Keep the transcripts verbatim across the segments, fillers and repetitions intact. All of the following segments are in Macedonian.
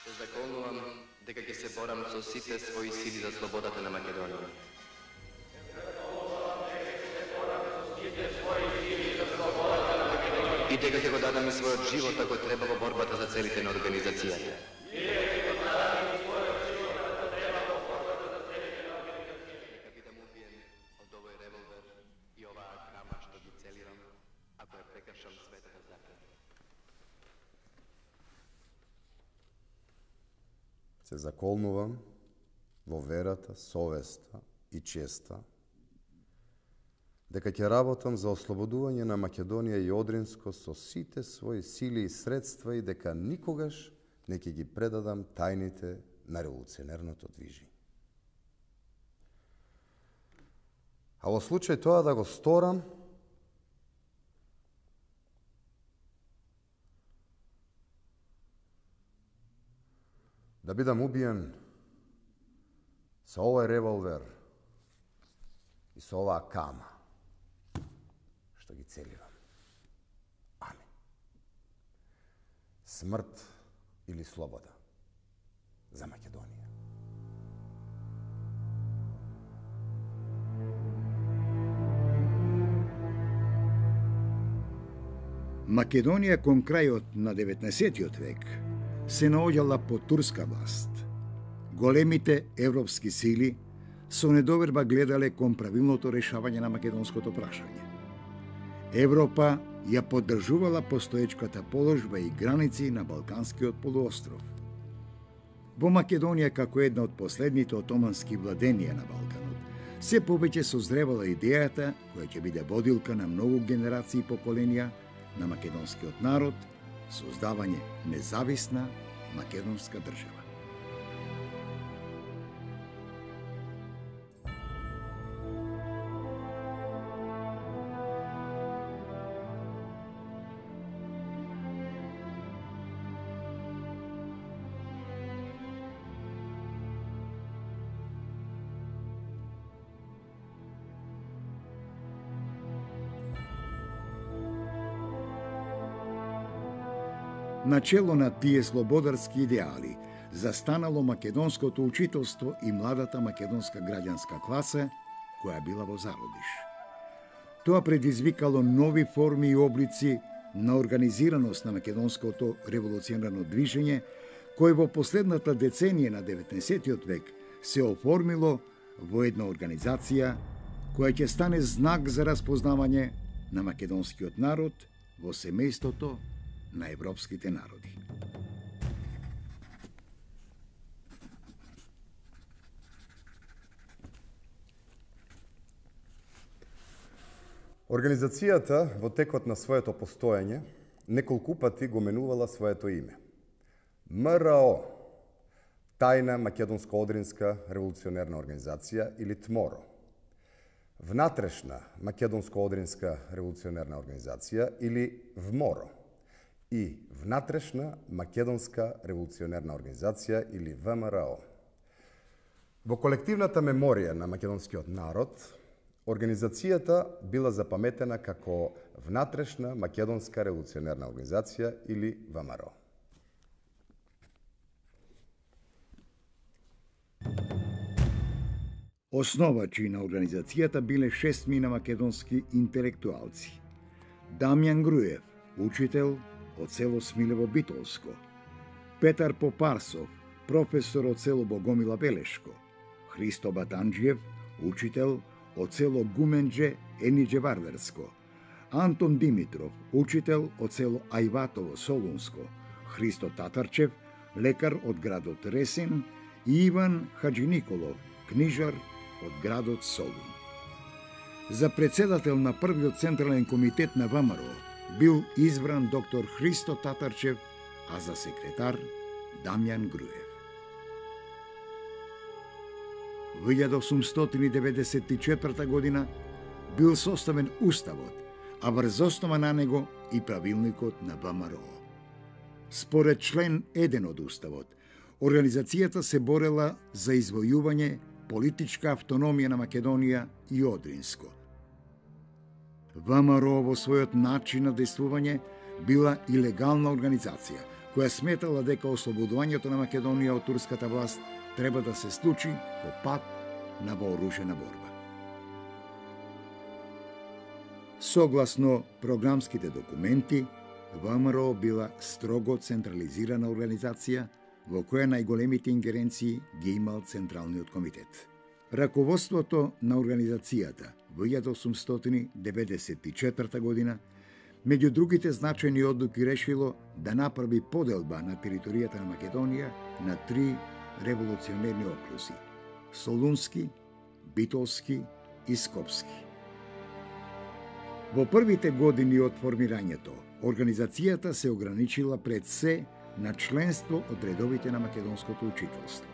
Се заколнувам дека ќе се борам со сите своји сили за слободата на Македонија. И дека ќе го дадам и својот живот ако треба во борбата за целите на организацијата. Нека бидам убиен од овој револвер и оваа крама што ги целирам, ако ја прекршам светата закон. Се заколнувам во верата, совеста и честа дека ќе работам за ослободување на Македонија и Одринско со сите своји сили и средства и дека никогаш не ќе ги предадам тајните на револуционерното движење. А во случај тоа да го сторам, да бидам убиен со овој револвер и со оваа кама што ги целирам. Амин. Смрт или слобода за Македонија. Македонија кон крајот на деветнаесеттиот век се наоѓала под турска власт. Големите европски сили со недоверба гледале кон правилното решавање на македонското прашање. Европа ја поддржувала постоечката положба и граници на Балканскиот полуостров. Во Македонија, како една од последните отомански владенија на Балканот, се повеќе созревала идејата која ќе биде водилка на многу генерации и поколенија на македонскиот народ, создавање независна македонска држава. Начело на тие слободарски идеали застанало македонското учителство и младата македонска граѓанска класа која била во зародиш. Тоа предизвикало нови форми и облици на организираност на македонското револуционарно движење, кој во последната деценија на деветнаесеттиот век се оформило во една организација која ќе стане знак за распознавање на македонскиот народ во семејството на европските народи. Организацијата во текот на своето постоење неколку пати го менувала своето име. МРО, Тајна македонско-одринска револуционерна организација или ТМОРО, Внатрешна македонско-одринска револуционерна организација или ВМОРО и Внатрешна македонска револуционерна организација или ВМРО. Во колективната меморија на македонскиот народ, организацијата била запаметена како Внатрешна македонска револуционерна организација или ВМРО. Основачи на организацијата биле шестмина македонски интелектуалци. Дамјан Груев, учител од село Смилево Битолско, Петар Попарсов, професор од село Богомила Белешко, Христо Батанџиев, учител од село Гуменџе Ениџе Вардарско, Антон Димитров, учител од село Ајватово Солунско, Христо Татарчев, лекар од градот Ресин и Иван Хаџи Николов, книжар од градот Солун. За председател на првиот централен комитет на ВМРО бил избран доктор Христо Татарчев, а за секретар Дамјан Груев. Во илјада осумстотини деветдесет и четврта година бил составен уставот, а врз основа на него и правилникот на ВМРО. Според член еден од уставот, организацијата се борела за извојување политичка автономија на Македонија и Одринско. ВМРО во својот начин на действување била и легална организација, која сметала дека ослободувањето на Македонија од турската власт треба да се случи по пат на вооружена борба. Согласно програмските документи, ВМРО била строго централизирана организација во која најголемите ингеренции ги имал Централниот комитет. Раководството на организацијата во илјада осумстотини деветдесет и четврта година меѓу другите значајни одлуки решило да направи поделба на територијата на Македонија на три револуционерни окрузи – Солунски, Битолски и Скопски. Во првите години од формирањето, организацијата се ограничила пред се на членство од редовите на македонското учителство.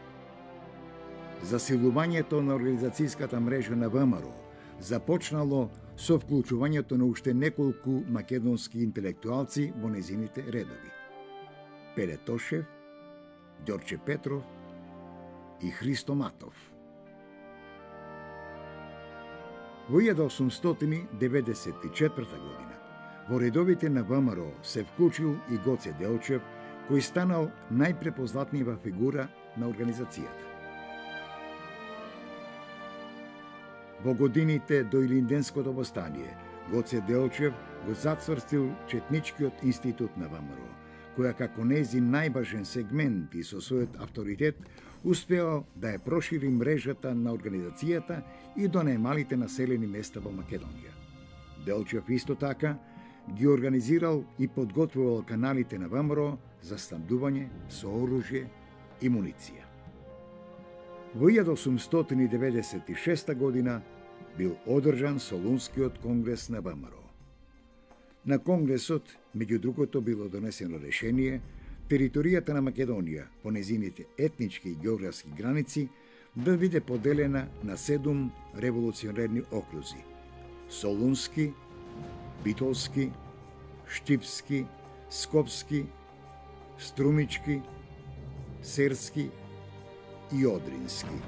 Засилувањето на организацијската мрежа на ВМРО започнало со вклучувањето на уште неколку македонски интелектуалци во незините редови. Пеле Тошев, Ѓорче Петров и Христо Матов. Во илјада осумстотини деветдесет и четврта година во редовите на ВМРО се вклучил и Гоце Делчев, кој станал најпрепознатнива фигура на организацијата. Во годините до Илинденското востание, Гоце Делчев го зацврстил Четничкиот институт на ВМРО, која како нејзин најважен сегмент и со својот авторитет успеал да ја прошири мрежата на организацијата и до најмалите населени места во Македонија. Делчев исто така ги организирал и подготвувал каналите на ВМРО за снабдување со оружје и муниција. Во илјада осумстотини деветдесет и шеста година бил одржан Солунскиот конгрес на ВМРО. На конгресот, меѓу другото, било донесено решение територијата на Македонија по незините етнички и географски граници да биде поделена на седум револуционерни окрузи – Солунски, Битолски, Штипски, Скопски, Струмички, Серски и Одрински.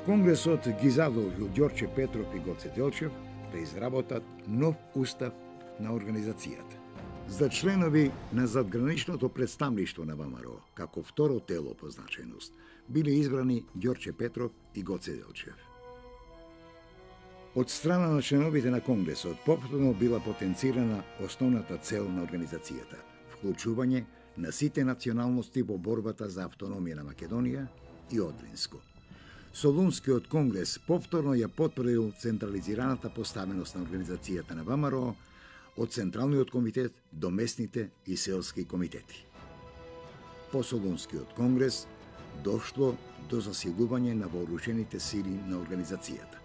Конгресот ги задолжил Ѓорче Петров и Гоце Делчев да изработат нов устав на организацијата. За членови на задграничното представништво на ВМРО, како второ тело по значајност, биле избрани Ѓорче Петров и Гоце Делчев. Од страна на членовите на Конгресот повторно била потенцирана основната цел на организацијата – вклучување на сите националности во борбата за автономија на Македонија и Одринско. Солунскиот конгрес повторно ја потврдил централизираната поставеност на организацијата на ВМРО од Централниот комитет до местните и селски комитети. По Солунскиот конгрес дошло до засилување на вооружените сили на организацијата.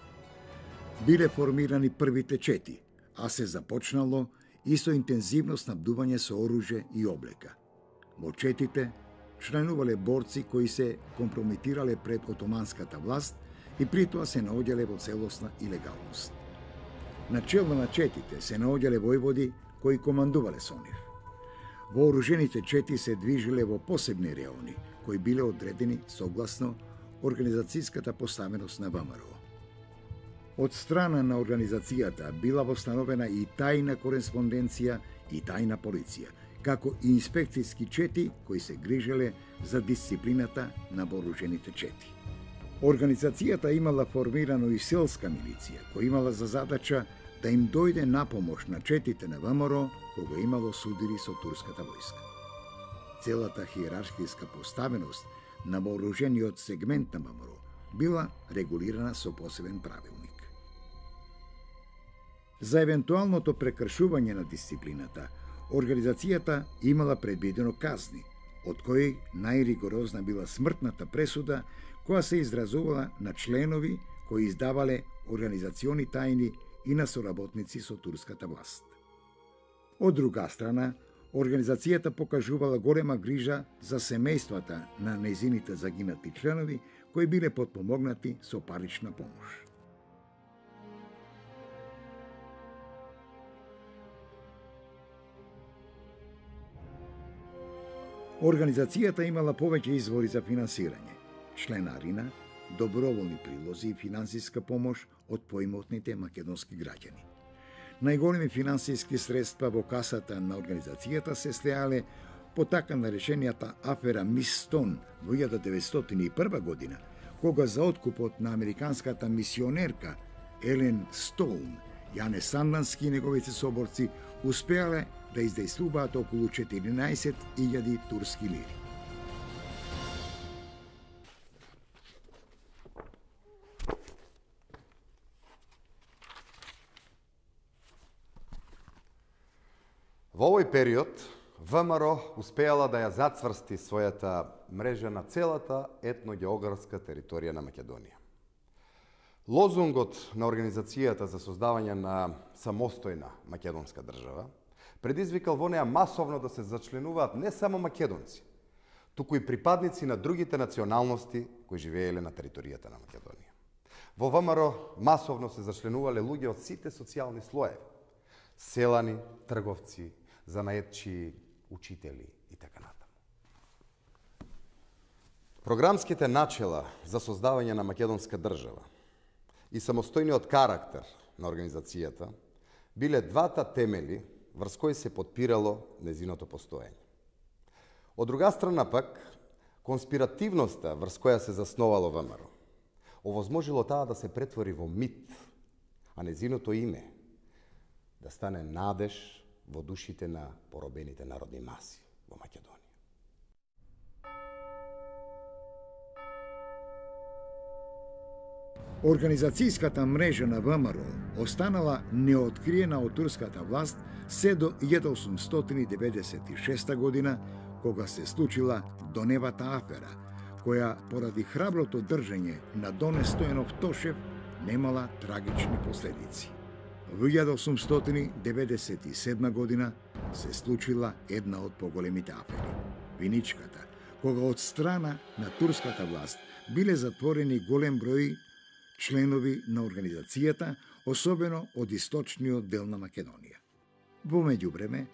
Биле формирани првите чети, а се започнало и со интензивно снабдување со оружје и облека. Во четите членувале борци кои се компрометирале пред отоманската власт и притоа се наоѓале во целосна илегалност. На чело на четите се наоѓале војводи кои командувале со нив. Вооружените чети се движиле во посебни реони, кои биле одредени согласно организацијската поставеност на ВМРО. Од страна на организацијата била востановена и тајна кореспонденција и тајна полиција, како и инспекцијски чети кои се грижеле за дисциплината на вооружените чети. Организацијата имала формирано и селска милиција, која имала за задача да им дојде на помош на четите на ВМРО кога имало судири со турската војска. Целата хиерархиска поставеност на вооружениот сегмент на ВМРО била регулирана со посебен правилник. За евентуалното прекршување на дисциплината, организацијата имала предвидено казни, од кои најригорозна била смртната пресуда која се изразувала на членови кои издавале организациони тајни и на соработници со турската власт. Од друга страна, организацијата покажувала голема грижа за семејствата на нејзините загинати членови кои биле потпомогнати со парична помош. Организацијата имала повеќе извори за финансирање: членарина, доброволни прилози и финансиска помош од поимотните македонски граѓани. Најголеми финансиски средства во касата на организацијата се слеале потака на решенијата афера Мис Стон во илјада деветстотини и прва година, кога за откупот на американската мисионерка Елен Стоун, Јане Сандански и неговите соборци успеале да издејствуваат околу четиринаесет илјади турски лири. Во овој период, ВМРО успеала да ја зацврсти својата мрежа на целата етногеографска територија на Македонија. Лозунгот на Организацијата за создавање на самостојна македонска држава предизвикал во неа масовно да се зачленуваат не само македонци, туку и припадници на другите националности кои живееле на територијата на Македонија. Во ВМРО масовно се зачленувале луѓе од сите социјални слоеви: селани, трговци, занаетчи, учители и така натаму. Програмските начела за создавање на македонска држава и самостојниот карактер на организацијата биле двата темели врз кои се подпирало незиното постоење. Од друга страна пак, конспиративноста врз која се засновало ВМРО овозможило таа да се претвори во мит, а незиното име да стане надеж во душите на поробените народни маси во Македонија. Организацијската мрежа на ВМРО останала неоткриена од турската власт се до илјада осумстотини деветдесет и шеста година, кога се случила Доневата афера, која поради храброто држење на Доне Стојанов Тошев немала трагични последици. Во илјада осумстотини деветдесет и седма година се случила една од поголемите афери – Виничката, кога од страна на турската власт биле затворени голем број членови на организацијата, особено од источниот дел на Македонија. Во меѓувреме,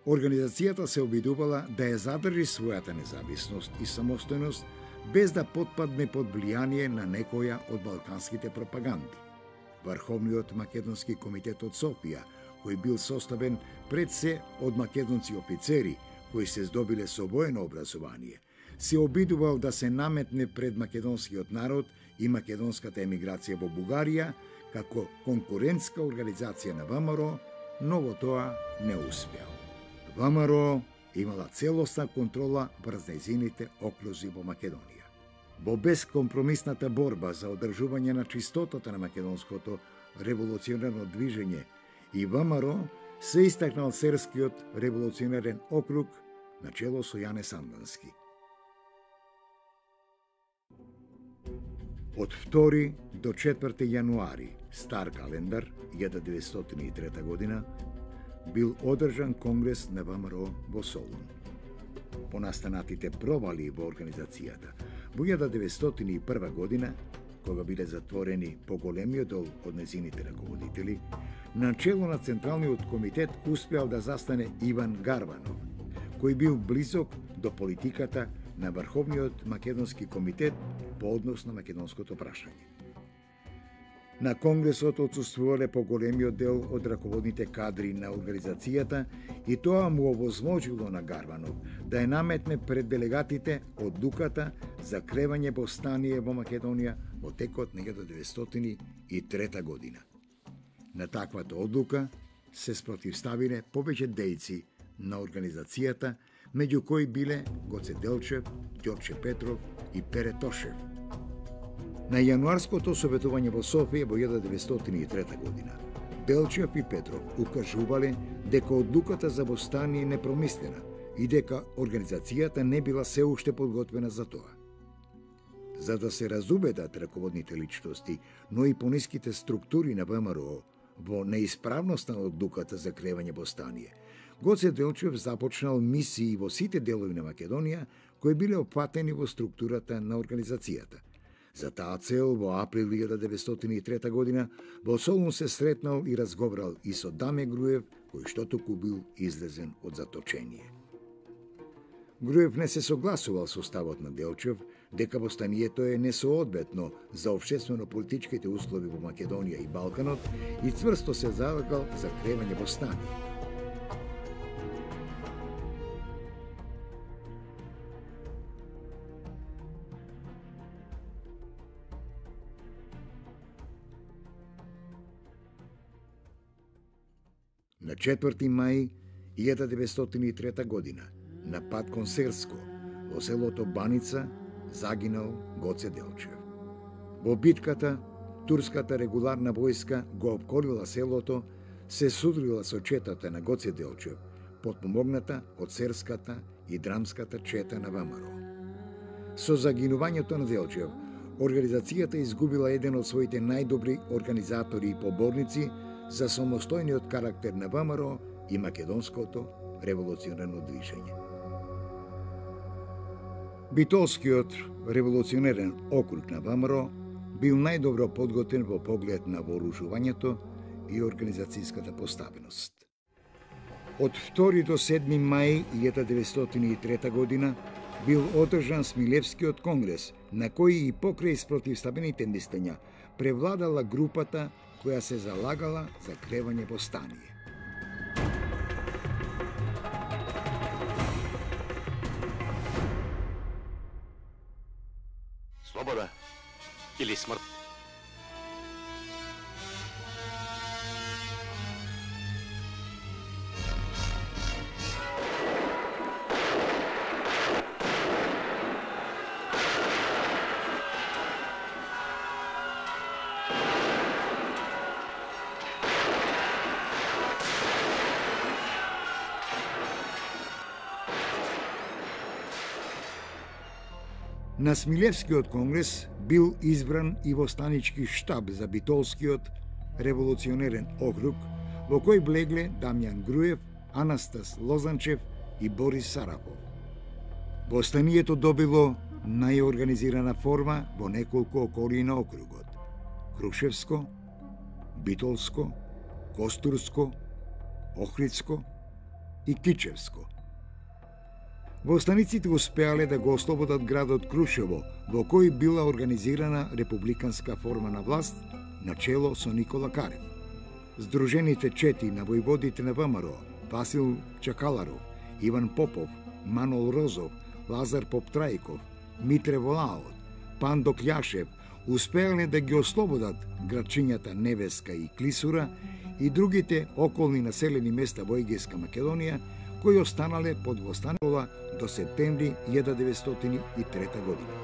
организацијата се обидувала да ја задржи својата независност и самостојност без да потпадне под влијание на некоја од балканските пропаганди. Врховниот македонски комитет од Софија, кој бил составен пред се од македонци офицери кои се здобиле со воено образование, се обидувал да се наметне пред македонскиот народ и македонската емиграција во Бугарија како конкурентска организација на ВМРО, но во тоа не успеал. ВМРО имала целосна контрола врз нејзините окружи во Македонија. Во бескомпромисната борба за одржување на чистотата на македонското револуционерно движење и ВМРО се истакнал Серскиот револуционерен округ на чело со Јане Сандански. Од втори до четврти јануари, стар календар, илјада деветстотини и трета година, бил одржан конгрес на ВМРО во Солун. По настанатите провали во организацијата, во илјада деветстотини и прва година, кога биле затворени поголемиот дел од незините раководители, на чело на Централниот комитет успеал да застане Иван Гарванов, кој бил близок до политиката на Врховниот македонски комитет по однос на македонското прашање. На конгресот отсуствувале поголемиот дел од раководните кадри на организацијата и тоа му овозможило на Гарванов да ја наметне пред делегатите одлуката за кревање повстание во Македонија во текот на илјада деветстотини и трета година. На таквата одлука се спротивставиле повеќе дејци на организацијата, меѓу кои биле Гоце Делчев, Ѓорче Петров и Пере Тошев. На јануарското советување во Софија во илјада деветстотини и трета година, Делчев и Петров укажувале дека одлуката за повстание е непромислена и дека организацијата не била се уште подготвена за тоа. За да се разубедат раководните личности, но и пониските структури на ВМРО во неисправноста на одлуката за кревање повстание, Гоце Делчев започнал мисии во сите делови на Македонија кои биле опфатени во структурата на организацијата. За таа цел во април илјада деветстотини и трета година во Солун се сретнал и разговарал и со Даме Груев, кој што току бил излезен од заточение. Груев не се согласувал со ставот на Делчев дека повстанието е несоодветно за општествено-политичките услови во Македонија и Балканот и цврсто се залагал за кревање повстание. На четврти мај илјада деветстотини и трета година, на пат кон Серско, во селото Баница, загинал Гоце Делчев. Во битката, турската регуларна војска го опколила селото, се судрила со четата на Гоце Делчев, потпомогната од серската и драмската чета на ВМРО. Со загинувањето на Делчев, организацијата изгубила еден од своите најдобри организатори и поборници за самостојниот карактер на ВМРО и македонското револуционерно движење. Битолскиот револуционерен округ на ВМРО бил најдобро подготвен во поглед на вооружувањето и организацијската поставеност. Од втори до седми мај илјада деветстотини и трета година бил одржан Смилевскиот конгрес, на кој и покрај спротивставените мислења превладала групата која се залагала за кревање во стание. Слобода или смрт? На Смилевскиот конгрес бил избран и востанички штаб за Битолскиот револуционерен округ, во кој влегле Дамјан Груев, Анастас Лозанчев и Борис Сарапов. Востанието добило најорганизирана форма во неколку околии на округот: Крушевско, Битолско, Костурско, Охридско и Кичевско. Востаниците успеале да го ослободат градот Крушево, во кој била организирана републиканска форма на власт, начело со Никола Карев. Сдружените чети на војводите на ВМРО, Васил Чакаларов, Иван Попов, Манол Розов, Лазар Поптрајков, Митре Волаот, Пандо Кљашев, успеале да ги ослободат градчињата Невеска и Клисура и другите околни населени места во Егејска Македонија, кои останале под востанола до септември илјада деветстотини и трета година.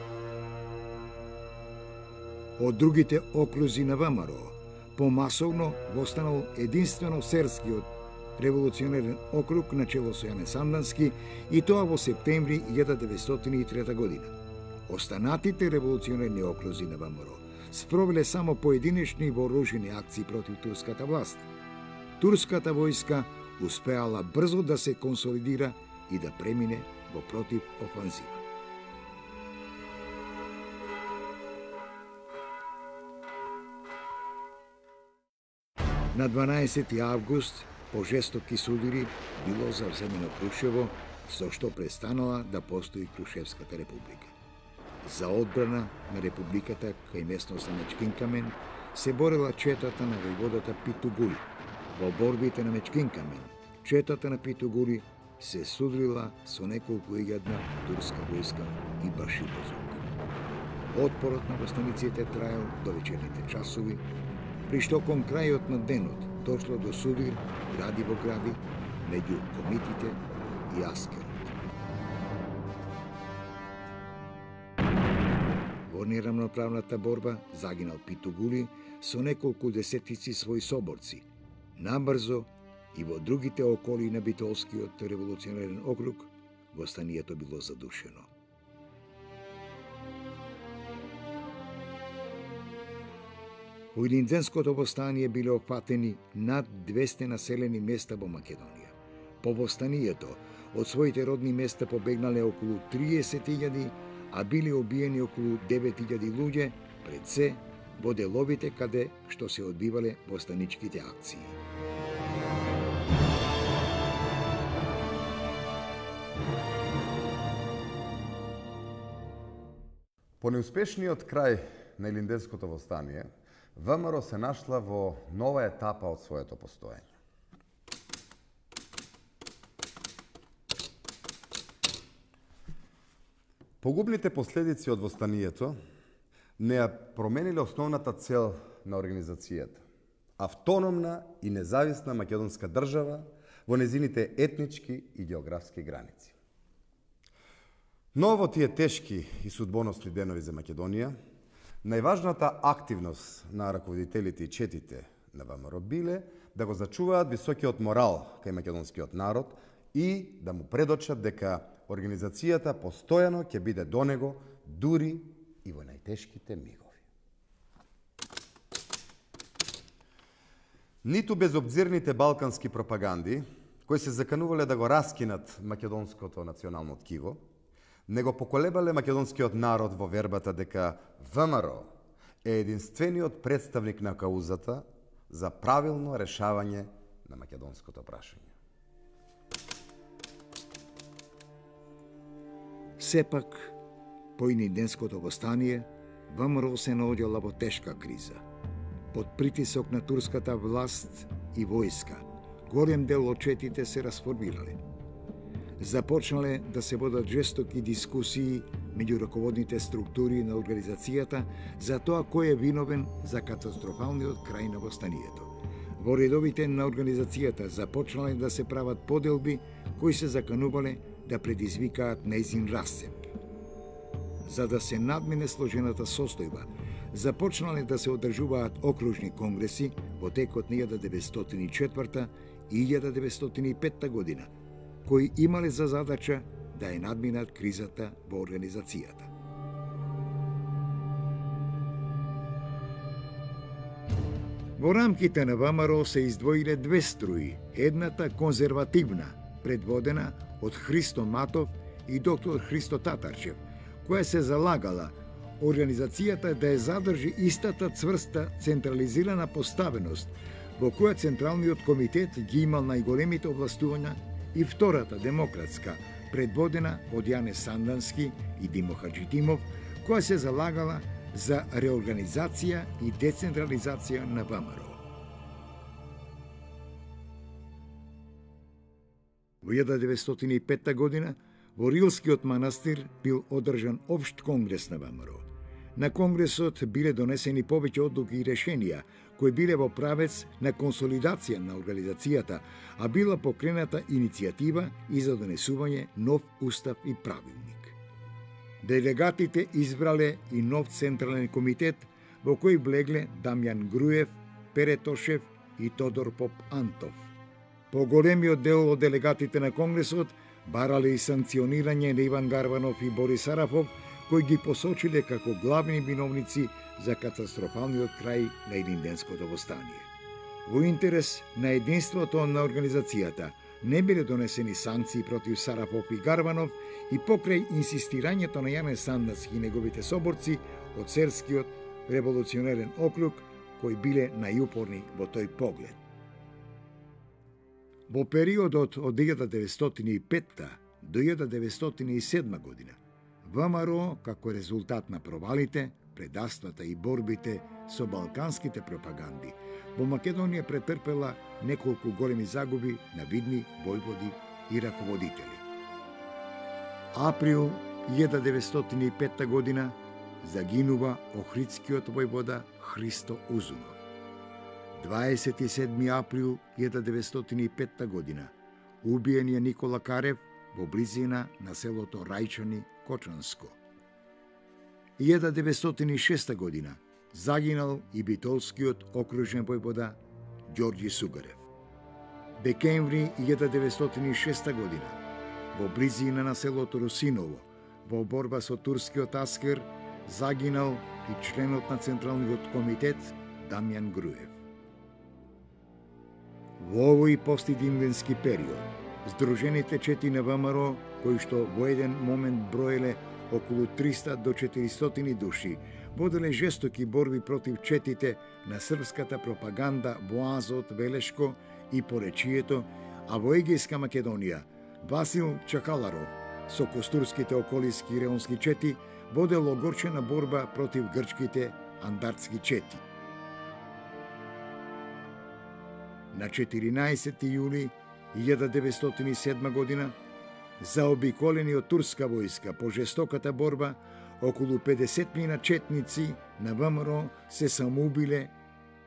Од другите окрузи на ВМРО, помасовно востанал единствено Серскиот револуционерен округ на чело со Јане Сандански, и тоа во септември илјада деветстотини и трета година. Останатите револуционерни окрузи на ВМРО спровеле само поединечни вооружени акции против турската власт. Турската војска успеала брзо да се консолидира и да премине во против офанзива. На дванаесети август по жестоки судири било завземено Крушево, со што престанала да постои Крушевската република. За одбрана на републиката кај местноста Мечкинкамен се борела четата на војводата Питугули. Во борбите на Мечкинкамен, четата на Питугули се судрила со неколку илјадна турска војска и башибозок. Отпорот на востаниците траел до вечерните часови, при што кон крајот на денот дошло до судир гради во гради меѓу комитите и Аскерот. Во нерамноправната борба загинал Питугули со неколку десетици своји соборци. Набрзо и во другите околии на Битолскиот револуционерен округ востанието било задушено. Во Илинденското востание биле опатени над двесте населени места во Македонија. По востанието од своите родни места побегнале околу триесет илјади, а биле убиени околу девет илјади луѓе, пред се во деловите каде што се одбивале востаничките акции. По неуспешниот крај на Илинденското востание, ВМРО се нашла во нова етапа од своето постоење. Погубните последици од востанието не ја промениле основната цел на организацијата, автономна и независна македонска држава во незините етнички и географски граници. Но во тие тешки и судбоносни денови за Македонија, најважната активност на раководителите и четите на ВМРО биле да го зачуваат високиот морал кај македонскиот народ и да му предочат дека организацијата постојано ќе биде до него дури и во најтешките мигови. Ниту безобзирните балкански пропаганди, кои се заканувале да го раскинат македонското национално ткиво, не го поколебале македонскиот народ во вербата дека ВМРО е единствениот представник на каузата за правилно решавање на македонското прашање. Сепак, по иниденското востание, ВМРО се наоѓала во тешка криза. Под притисок на турската власт и војска, голем дел од четите се расформирале. Започнале да се водат жестоки дискусии меѓу раководните структури на организацијата за тоа кој е виновен за катастрофалниот крај на востанието. Во редовите на организацијата започнале да се прават поделби кои се заканувале да предизвикаат нејзин расцеп. За да се надмине сложената состојба, започнале да се одржуваат окружни конгреси во текот на илјада деветстотини и четврта и илјада деветстотини и петта година, кои имале за задача да ја надминат кризата во организацијата. Во рамките на ВМРО се издвоиле две струи, едната конзервативна, предводена од Христо Матов и доктор Христо Татарчев, која се залагала организацијата да ја задржи истата цврста централизирана поставеност, во која Централниот комитет ги имал најголемите овластувања, и втората демократска, предводена од Јане Сандански и Димо Хаджитимов, која се залагала за реорганизација и децентрализација на ВМРО. Во илјада деветстотини и петта година во Рилскиот манастир бил одржан општ конгрес на ВМРО. На конгресот биле донесени повеќе одлуки и решенија кои биле во правец на консолидација на организацијата, а била покрената иницијатива и за донесување нов устав и правилник. Делегатите избрале и нов централен комитет во кој влегле Дамјан Груев, Пере Тошев и Тодор Поп Антов. Поголемиот дел од делегатите на конгресот барале и санкционирање на Иван Гарванов и Борис Арафов, кои ги посочиле како главни виновници за катастрофалниот крај на Илинденското востание. Во интерес на единството на организацијата не биле донесени санкции против Сарафов и Гарванов и покрај инсистирањето на Јане Сандански и неговите соборци од Серскиот револуционерен округ, кои биле најупорни во тој поглед. Во периодот од илјада деветстотини и петта до илјада деветстотини и седма година, ВМРО, како резултат на провалите, предавствата и борбите со балканските пропаганди, во Македонија претрпела неколку големи загуби на видни војводи и раководители. Април илјада деветстотини и петта година загинува охридскиот војвода Христо Узунов. дваесет и седми април илјада деветстотини и петта година убиен е Никола Карев во близина на селото Рајчани, Кочанско. илјада деветстотини и шеста година загинал и битолскиот окружен војвода Ѓорѓи Сугарев. Декември илјада деветстотини и шеста година во близина на селото Русиново во борба со турскиот аскер загинал и членот на Централниот комитет Дамјан Груев. Во овој постидимвенски период, Сдружените чети на ВМРО, кои што во еден момент броеле околу триста до четиристотини души, воделе жестоки борби против четите на српската пропаганда во Азот, Велешко и поречието, а во Егејска Македонија Васил Чакаларов со костурските околиски и реонски чети водел огорчена борба против грчките андартски чети. На четиринаесети јули илјада деветстотини и седма година, заобиколени од турска војска по жестоката борба, околу педесет мина четници на ВМРО се самоубиле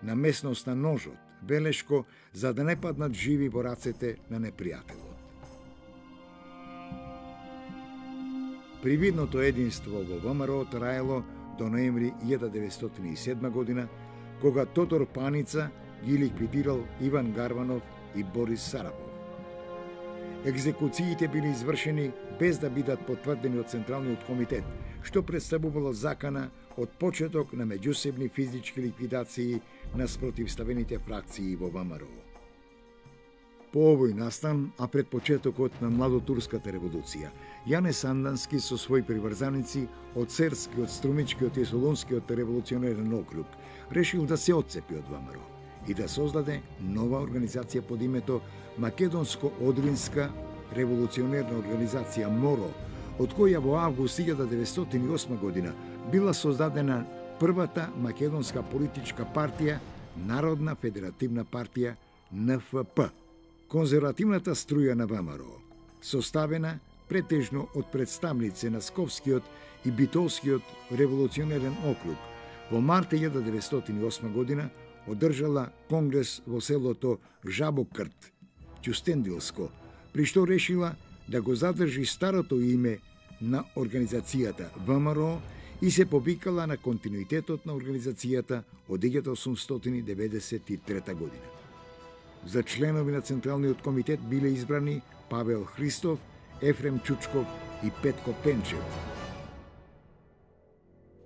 на местноста Ножот, белешко за да не паднат живи во рацете на непријателот. Привидното единство во ВМРО траело до ноември илјада деветстотини и седма година, кога Тодор Паница ги ликвидирал Иван Гарванов и Борис Сарапов. Екзекуциите били извршени без да бидат потврдени од Централниот комитет, што представувало закана од почеток на меѓусебни физички ликвидации на спротивставените фракции во ВМРО. По овој настан, а пред почетокот на младотурската револуција, Јане Сандански со своји приврзаници од Серскиот, Струмичкиот и Солунскиот револуционерен округ решил да се отцепи од ВМРО и да создаде нова организација под името Македонско-Одринска револуционерна организација МОРО, од која во август илјада деветстотини и осма година била создадена првата македонска политичка партија, Народна федеративна партија Н Ф П. Конзервативната струја на ВМРО, составена претежно од представници на Сковскиот и Битолскиот револуционерен округ, во март илјада деветстотини и осма година одржала конгрес во селото Жабокрт, Ќустендилско, при што решила да го задржи старото име на организацијата ВМРО и се повикала на континуитетот на организацијата од илјада осумстотини деветдесет и трета година. За членови на Централниот комитет биле избрани Павел Христов, Ефрем Чучков и Петко Пенчев.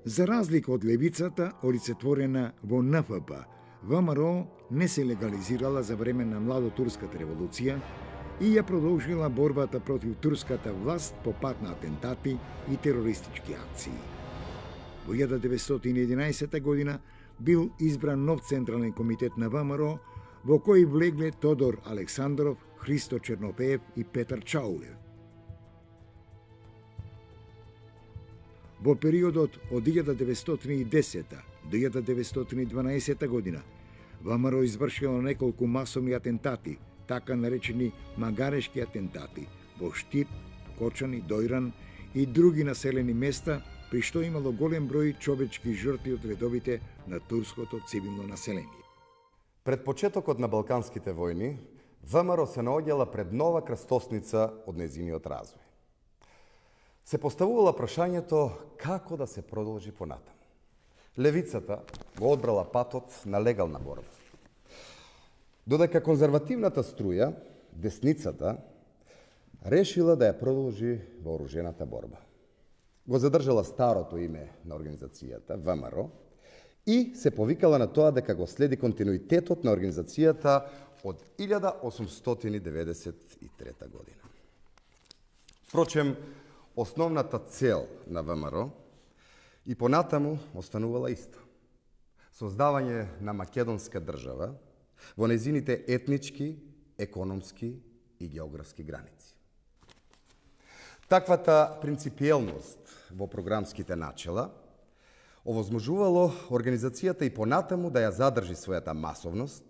За разлика од левицата, олицетворена во Н Ф П, ВМРО не се легализирала за време на младотурската револуција и ја продолжила борбата против турската власт по пат на атентати и терористички акции. Во илјада деветстотини и единаесета година бил избран нов Централен комитет на ВМРО, во кој влегле Тодор Александров, Христо Чернопеев и Петар Чаулев. Во периодот од илјада деветстотини и десета до илјада деветстотини и дванаесета година ВМРО извршило неколку масовни атентати, така наречени магарешки атентати, во Штип, Кочани, Дојран и други населени места, при што имало голем број човечки жртви од редовите на турското цивилно население. Пред почетокот на Балканските војни, ВМРО се наоѓала пред нова крстосница од незиниот развој. Се поставувала прашањето како да се продолжи понатаму. Левицата го одбрала патот на легална борба. Додека конзервативната струја, десницата, решила да ја продолжи вооружената борба. Го задржала старото име на организацијата, ВМРО, и се повикала на тоа дека го следи континуитетот на организацијата од илјада осумстотини деветдесет и трета година. Впрочем, основната цел на ВМРО и понатаму останувала иста. Создавање на македонска држава во незините етнички, економски и географски граници. Таквата принципиелност во програмските начела овозможувало организацијата и понатаму да ја задржи својата масовност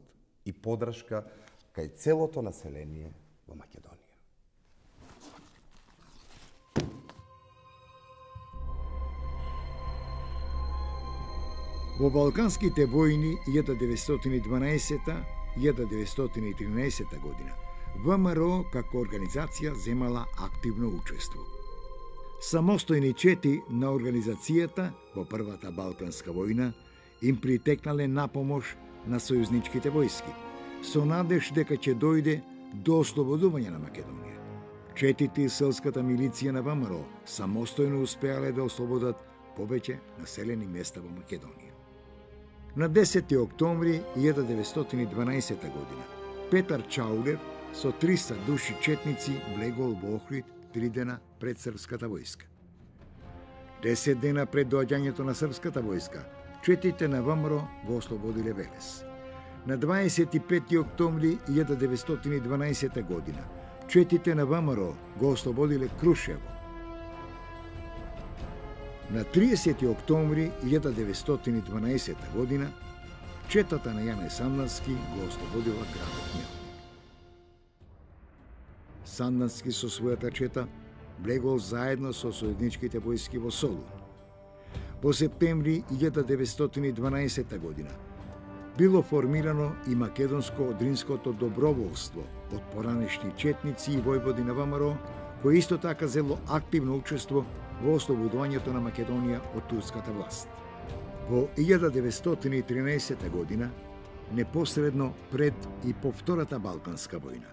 и подршка кај целото население во Македонија. Во Балканските војни илјада деветстотини и дванаесета - илјада деветстотини и тринаесета година ВМРО како организација земала активно учество. Самостојни чети на организацијата во Првата Балканска војна им притекнале напомош на сојузничките војски, со надеж дека ќе дојде до ослободување на Македонија. Четите и селската милиција на ВМРО самостојно успеале да ослободат повеќе населени места во Македонија. На десети октомври илјада деветстотини и дванаесета година Петар Чаулев со триста души четници влегол во Охрид три дена пред српската војска. Десет дена пред доаѓањето на српската војска, четите на ВМРО го ослободиле Велес. На дваесет и пети октомври илјада деветстотини и дванаесета година, четите на ВМРО го ослободиле Крушево. На триесети октомври илјада деветстотини и дванаесета година, четата на Јане Сандански го ослободила градот Мелник. Сандански со својата чета влегол заедно со сојузничките војски во Солун. Во септември илјада деветстотини и дванаесета година било формирано и македонско-одринското доброволство од поранешни четници и војводи на ВМРО, кој исто така зело активно учество во ослободувањето на Македонија од турската власт. Во илјада деветстотини и тринаесета година, непосредно пред и по Втората Балканска војна,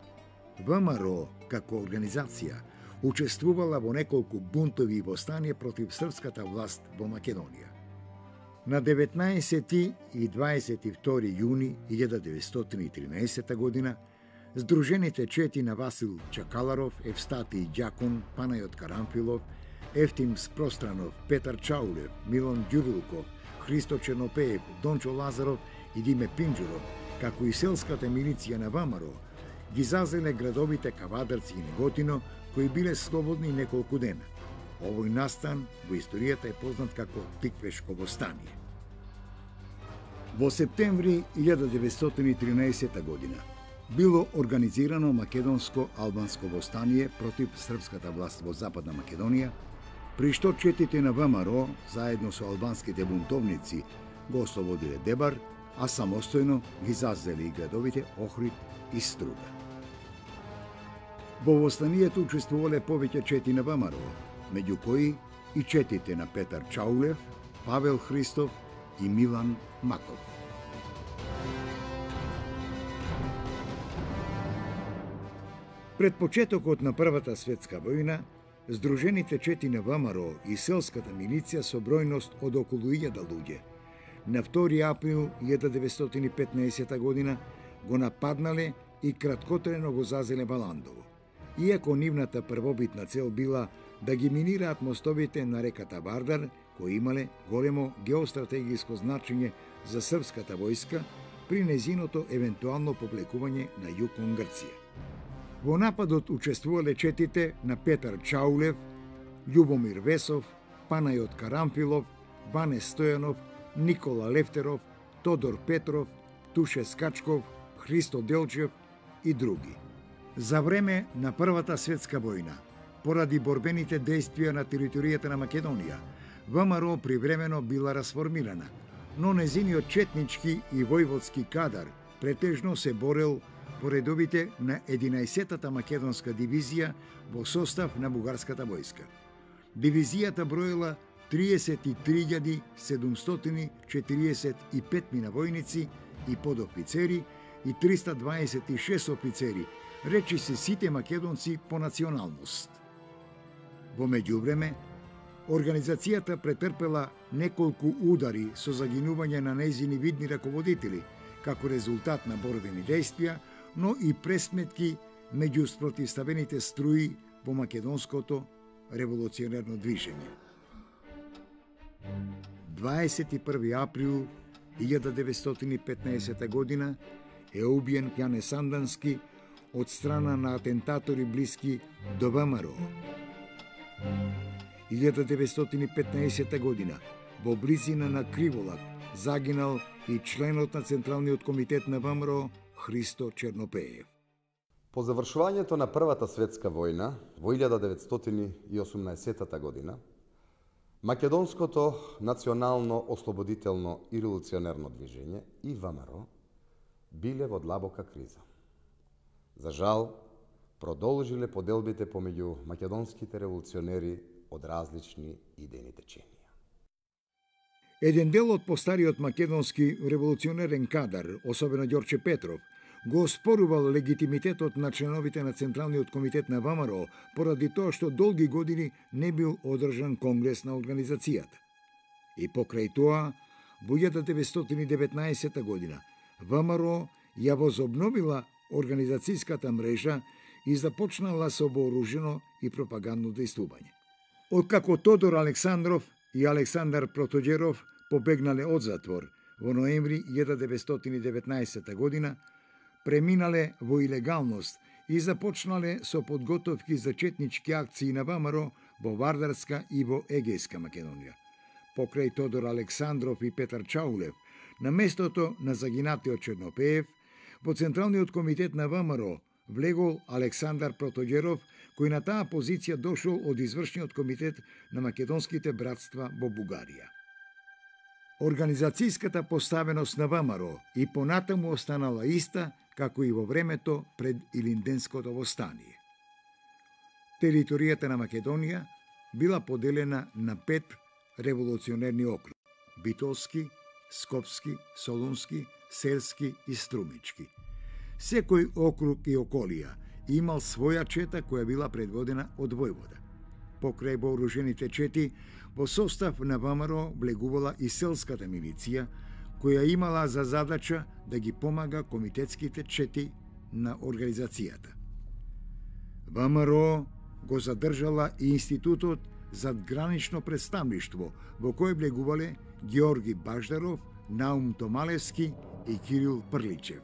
ВМРО како организација учествувала во неколку бунтови и востанија против српската власт во Македонија. На деветнаесети и дваесет и втори јуни илјада деветстотини и тринаесета година, Сдружените чети на Васил Чакаларов, Евстатий Ѓакун, Панајот Карамфилов, Ефтим Спространов, Петар Чаулев, Милон Ѓурилков, Христо Чернопеев, Дончо Лазаров и Диме Пинџуров, како и селската милиција на ВМРО, ги зазеле градовите Кавадарци и Неготино, кои биле слободни неколку дена. Овој настан во историјата е познат како Тиквешко востание. Во септември илјада деветстотини и тринаесета година било организирано македонско-албанско востание против српската власт во Западна Македонија, при што четите на ВМРО, заедно со албанските бунтовници, го ослободиле Дебар, а самостојно ги зазели и градовите Охрид и Струда. Во востанието учествувале повеќе чети на ВМРО, меѓу кои и четите на Петар Чаулев, Павел Христов и Милан Маков. Пред почетокот на Првата светска војна, Сдружените чети на ВМРО и селската милиција со бројност од околу илјада луѓе на втори април илјада деветстотини и петнаесета година го нападнале и краткотрено го зазеле Баландово. Иако нивната првобитна цел била да ги минираат мостовите на реката Вардар, кои имале големо геостратегиско значење за српската војска при незиното евентуално повлекување на југ кон Грција. Во нападот учествувале четите на Петар Чаулев, Љубомир Весов, Панајот Карамфилов, Бане Стојанов, Никола Левтеров, Тодор Петров, Туше Скачков, Христо Делчев и други. За време на Првата светска војна, поради борбените действија на територијата на Македонија, ВМРО привремено била расформирана, но незиниот четнички и војводски кадар претежно се борел по редовите на единаесеттата македонска дивизија во состав на бугарската војска. Дивизијата броела триесет и три илјади седумстотини четириесет и пет војници и подофицери и триста дваесет и шест офицери, речи се сите македонци по националност. Во меѓувреме, организацијата претрпела неколку удари со загинување на нејзини видни раководители, како резултат на борбени действија, но и пресметки меѓу спротивставените струи во македонското револуционерно движење. дваесет и први април илјада деветстотини и петнаесета година е убиен Јане Сандански од страна на атентатори блиски до ВМРО. илјада деветстотини и петнаесета година во близина на Криволак загинал и членот на Централниот комитет на ВМРО Христо Чернопеев. По завршувањето на Првата светска војна во илјада деветстотини и осумнаесетата година, македонското национално ослободително и револуционерно движење и ВМРО биле во длабока криза. За жал, продолжиле поделбите помеѓу македонските револуционери од различни идејни теченија. Еден дел од постариот македонски револуционерен кадар, особено Ѓорче Петров, го оспорувал легитимитетот на членовите на Централниот комитет на ВМРО поради тоа што долги години не бил одржан конгрес на организацијата. И покрај тоа, во илјада деветстотини и деветнаесета година, ВМРО ја возобновила организацијската мрежа и започнала со вооружено и пропагандно действување. Откако Тодор Александров и Александар Протоѓеров побегнале од затвор во ноември илјада деветстотини и деветнаесета година, преминале во илегалност и започнале со подготовки за четнички акции на ВМРО во Вардарска и во Егејска Македонија. Покрај Тодор Александров и Петар Чаулев, на местото на загинатиот Чернопеев, во Централниот комитет на ВМРО влегол Александар Протоѓеров, кој на таа позиција дошол од извршниот комитет на македонските братства во Бугарија. Организацијската поставеност на ВМРО и понатаму останала иста како и во времето пред Илинденското востание. Територијата на Македонија била поделена на пет револуционерни округи: Битолски, Скопски, Солунски, Селски и Струмички. Секој округ и околија имал своја чета која била предводена од војвода. Покрај вооружените чети, во состав на ВМРО влегувала и селската милиција, која имала за задача да ги помага комитетските чети на организацијата. ВМРО го задржала и институтот за гранично представништво, во кој влегувале Георги Баждаров, Наум Томалевски и Кирил Прличев.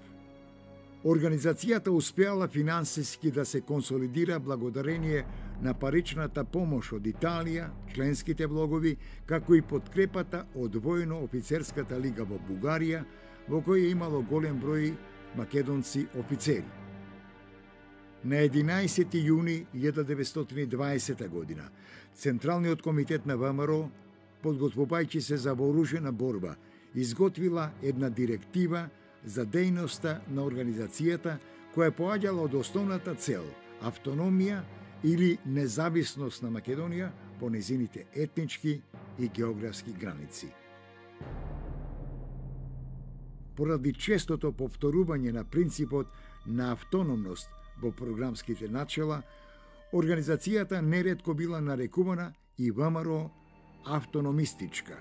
Организацијата успеала финансиски да се консолидира благодарение на паричната помош од Италија, членските влогови, како и подкрепата од војно-офицерската лига во Бугарија, во која имало голем број македонци офицери. На единаесети јуни илјада деветстотини и дваесета година, Централниот комитет на ВМРО, подготвувајќи се за вооружена борба, изготвила една директива за дејноста на организацијата која поаѓала од основната цел – автономија или независност на Македонија по незините етнички и географски граници. Поради честото повторување на принципот на автономност во програмските начела, организацијата неретко била нарекувана и ВМРО автономистичка.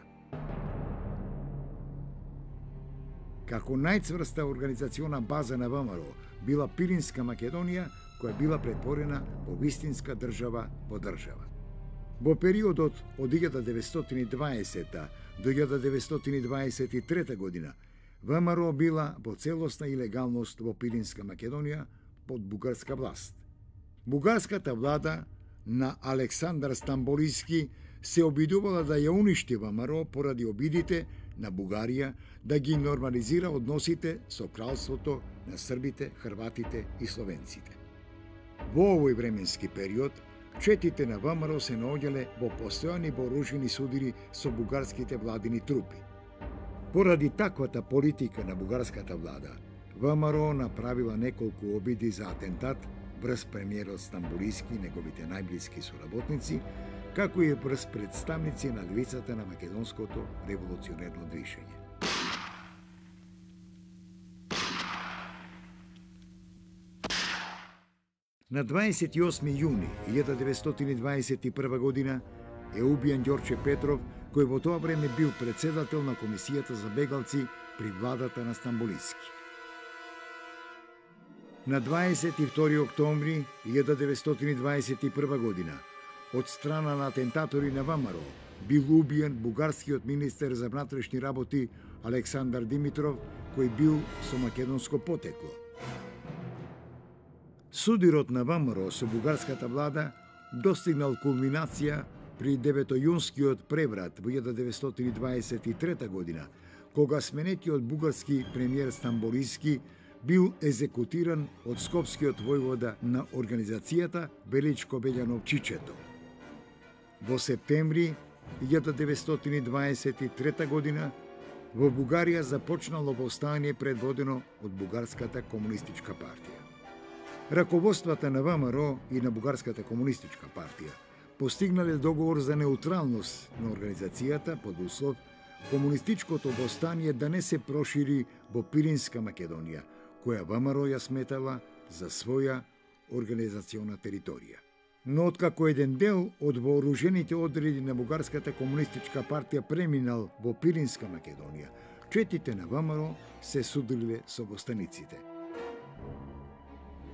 Како најцврста организациона база на ВМРО била Пиринска Македонија, која била претворена во вистинска држава во држава. Во периодот од илјада деветстотини и дваесета до илјада деветстотини дваесет и трета година, ВМРО била во целосна илегалност во Пиринска Македонија под бугарска власт. Бугарската влада на Александар Стамболиски се обидувала да ја уништи ВМРО поради обидите на Бугарија да ги нормализира односите со кралството на србите, хрватите и словенците. Во овој временски период, четите на ВМРО се наоѓале во постојани вооружени судири со бугарските владини трупи. Поради таквата политика на бугарската влада, ВМРО направила неколку обиди за атентат врз премиерот Стамболиски и неговите најблиски соработници, како и врз представници на левицата на македонското револуционерно движење. На дваесет и осми јуни илјада деветстотини дваесет и прва година е убиен Ѓорче Петров, кој во тоа време бил председател на Комисијата за бегалци при владата на Стамболиски. На дваесет и втори октомври илјада деветстотини дваесет и прва година од страна на атентатори на ВМРО бил убиен бугарскиот министер за внатрешни работи Александар Димитров, кој бил со македонско потекло. Судирот на ВМРО со бугарската влада достигнал кулминација при деветојунскиот преврат во илјада деветстотини дваесет и трета година, кога сменетиот бугарски премиер Стамболиски бил екзекутиран од скопскиот војвода на организацијата Величко Бељанов Чичето. Во септември илјада деветстотини дваесет и трета година во Бугарија започнало повстание предводено од Бугарската комунистичка партија. Раководствата на ВМРО и на Бугарската комунистичка партија постигнале договор за неутралност на организацијата под услов комунистичкото востание да не се прошири во Пиринска Македонија, која ВМРО ја сметала за своја организациона територија. Но откако еден дел од вооружените одреди на Бугарската комунистичка партија преминал во Пиринска Македонија, четите на ВМРО се судиле со востаниците.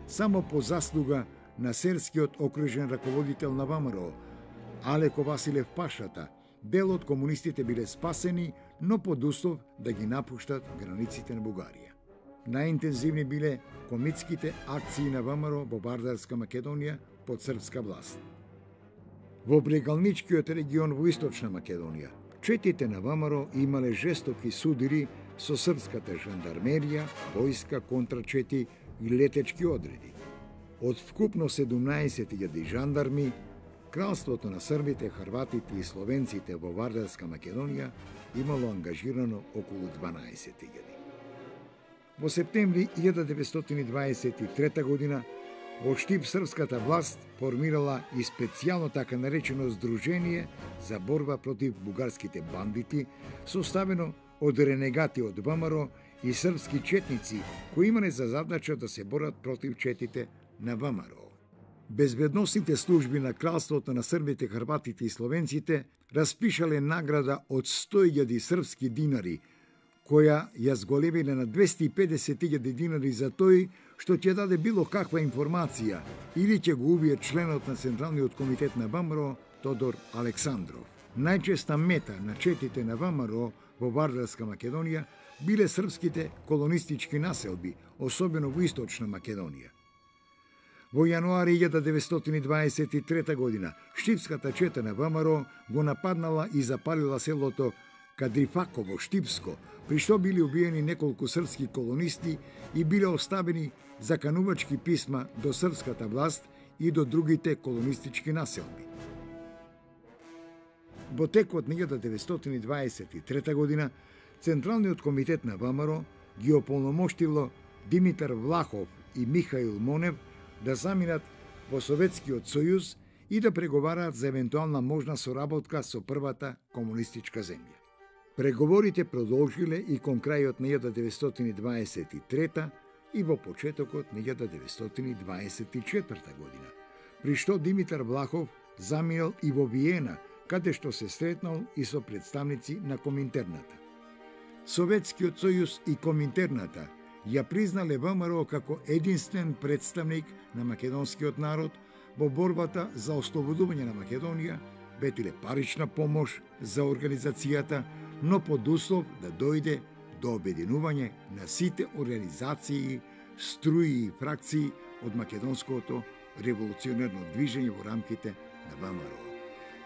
Само по заслуга на серскиот окружен раководител на ВМРО, Алеко Василев Пашата, дел од комунистите биле спасени, но под услов да ги напуштат границите на Бугарија. Најинтензивни биле комитските акции на ВМРО во Вардарска Македонија под српска власт. Во брегалничкиот регион во Источна Македонија, четите на ВМРО имале жестоки судири со српската жандармерија, војска, контрачети и летечки одреди. Од вкупно седумнаесет илјади жандарми, Кралството на србите, хрватите и словенците во Вардарска Македонија имало ангажирано околу дванаесет илјади. Во септември илјада деветстотини дваесет и трета година во Штип српската власт формирала и специјално така наречено Здружение за борба против бугарските бандити, составено од ренегати од ВМРО и српски четници кои имале за задача да се борат против четите на ВМРО. Безбедносните служби на Кралството на србите, хрватите и словенците распишале награда од сто илјади српски динари, која ја зголемиле на двесте и педесет илјади динари за тој што ќе даде било каква информација или ќе го убие членот на Централниот комитет на ВМРО Тодор Александров. Најчеста мета на четите на ВМРО во Вардарска Македонија биле српските колонистички населби, особено во Источна Македонија. Во јануари илјада деветстотини дваесет и трета година штипската чета на ВМРО го нападнала и запалила селото Кадрифаково Штипско, при што били убиени неколку српски колонисти и биле оставени заканувачки писма до српската власт и до другите колонистички населби. Во текот на илјада деветстотини дваесет и трета година Централниот комитет на ВМРО ги ополномоштило Димитар Влахов и Михаил Монев да заминат во Советскиот сојуз и да преговараат за евентуална можна соработка со првата комунистичка земја. Преговорите продолжиле и кон крајот на илјада деветстотини дваесет и трета и во почетокот на илјада деветстотини дваесет и четврта година, при што Димитар Влахов заминал и во Виена, каде што се сретнал и со представници на Коминтерната. Советскиот сојуз и Коминтерната ја признале ВМРО како единствен представник на македонскиот народ во борбата за ослободување на Македонија, ветиле парична помош за организацијата, но под услов да дојде до обединување на сите организации, струи и фракции од македонското револуционерно движење во рамките на ВМРО.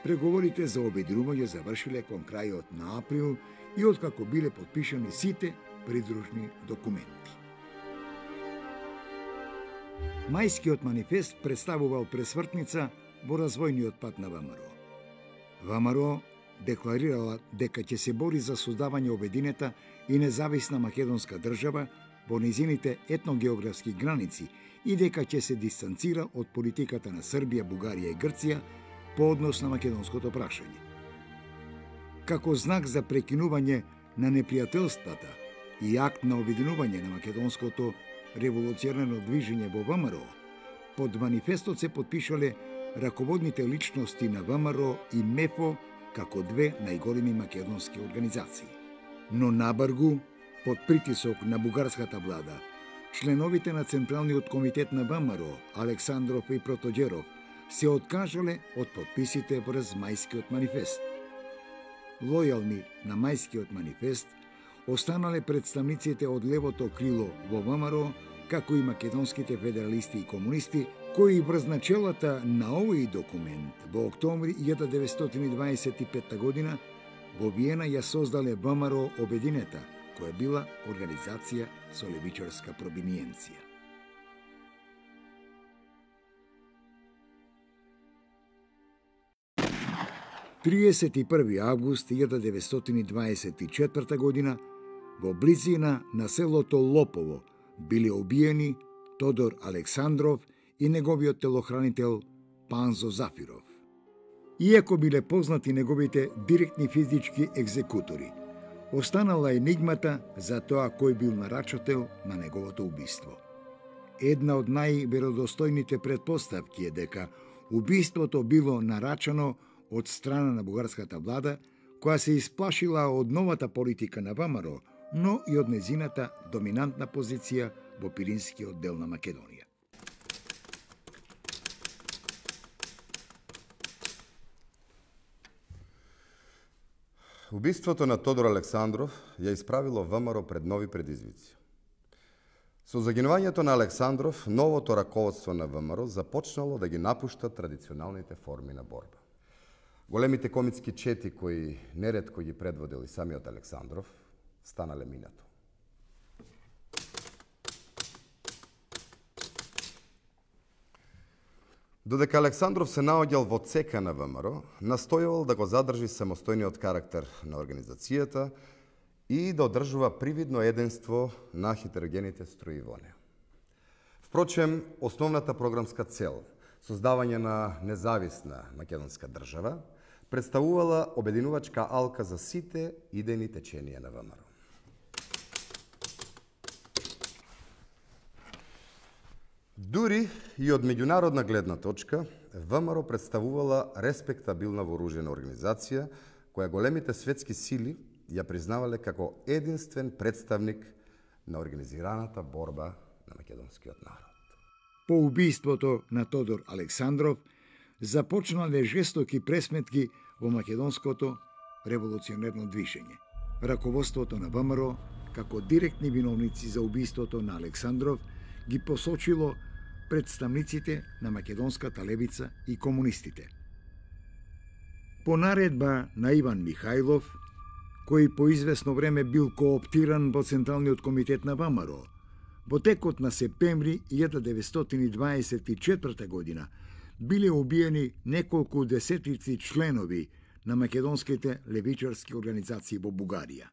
Преговорите за обединување завршиле кон крајот на април и откако биле потпишани сите придружни документи. Мајскиот манифест представувал пресвртница во развојниот пат на ВМРО. ВМРО декларирала дека ќе се бори за создавање обединета и независна македонска држава во низините етногеографски граници и дека ќе се дистанцира од политиката на Србија, Бугарија и Грција по однос на македонското прашање. Како знак за прекинување на непријателствата и акт на обединување на македонското револуционерно движење во ВМРО, под манифестот се потпишале раководните личности на ВМРО и МЕФО како две најголеми македонски организации. Но набргу, под притисок на бугарската влада, членовите на Централниот комитет на ВМРО, Александров и Протоџеров, се откажале од подписите врз Мајскиот манифест. Лојални на Мајскиот манифест останале представниците од левото крило во ВМРО, како и македонските федералисти и комунисти, кои врз начелата на овој документ во октомври илјада деветстотини дваесет и петта година во Виена ја создале ВМРО Обединета, која била организација со левичарска провиниенција. триесет и први август илјада деветстотини дваесет и четврта година во близина на селото Лопово биле убиени Тодор Александров и неговиот телохранител Панзо Зафиров. Иако биле познати неговите директни физички екзекутори, останала енигмата за тоа кој бил нарачател на неговото убиство. Една од најверодостојните претпоставки е дека убиството било нарачано од страна на бугарската влада, која се исплашила од новата политика на ВМРО, но и од незината доминантна позиција во Пиринскиот дел на Македонија. Убиството на Тодор Александров ја исправило ВМРО пред нови предизвици. Со загинувањето на Александров, новото раководство на ВМРО започнало да ги напушта традиционалните форми на борба. Големите комитски чети кои неретко ги предводил и самиот Александров, станале минато. Додека Александров се наоѓал во цека на ВМРО, настојувал да го задржи самостојниот карактер на организацијата и да одржува привидно единство на хетерогените струи во неа. Впрочем, основната програмска цел, создавање на независна македонска држава, представувала обединувачка алка за сите идејни теченија на ВМРО. Дури и од меѓународна гледна точка, ВМРО представувала респектабилна вооружена организација, која големите светски сили ја признавале како единствен представник на организираната борба на македонскиот народ. По убиството на Тодор Александров започнале жестоки пресметки во македонското револуционерно движење. Раководството на ВМРО, како директни виновници за убиството на Александров, ги посочило представниците на македонската левица и комунистите. По наредба на Иван Михајлов, кој по известно време бил кооптиран во Централниот комитет на ВМРО, во текот на септември илјада деветстотини дваесет и четврта година биле убиени неколку десетици членови на македонските левичарски организации во Бугарија.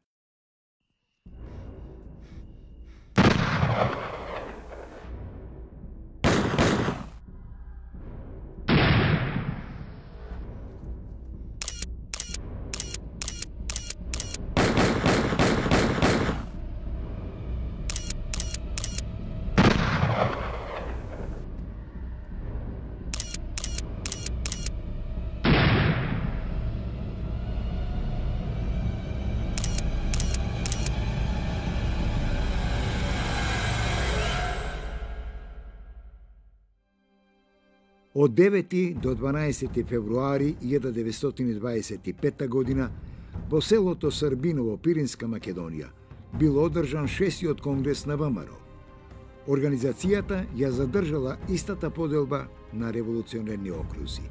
Од девети до дванаесети февруари илјада деветстотини дваесет и петта година во селото Србиново, Пиринска Македонија, бил одржан шестиот конгрес на ВМРО. Организацијата ја задржала истата поделба на револуционерни окрузи.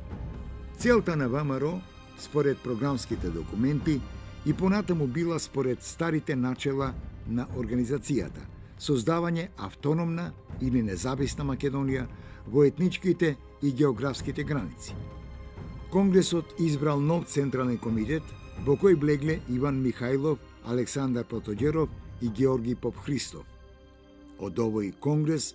Целта на ВМРО, според програмските документи, и понатаму била според старите начела на организацијата, создавање автономна или независна Македонија во етничките и географските граници. Конгресот избрал нов централен комитет во кој влегле Иван Михајлов, Александар Протоѓеров и Георги Попхристов. Од овој конгрес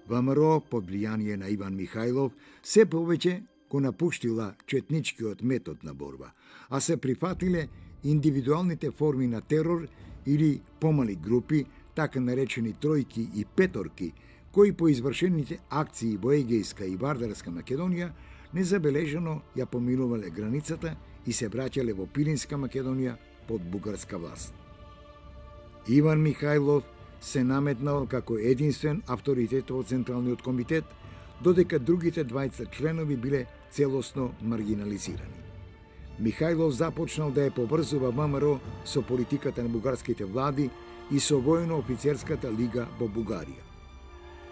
ВМРО под влијание на Иван Михајлов се повеќе го напуштила четничкиот метод на борба, а се прифатиле индивидуалните форми на терор или помали групи, така наречени тројки и петорки, кои по извршените акции во Егејска и Вардарска Македонија незабележано ја поминувале границата и се враќале во Пиринска Македонија под бугарска власт. Иван Михајлов се наметнал како единствен авторитет во Централниот комитет, додека другите двајца членови биле целосно маргинализирани. Михајлов започнал да ја поврзува ВМРО со политиката на бугарските влади и со војно-офицерската лига во Бугарија.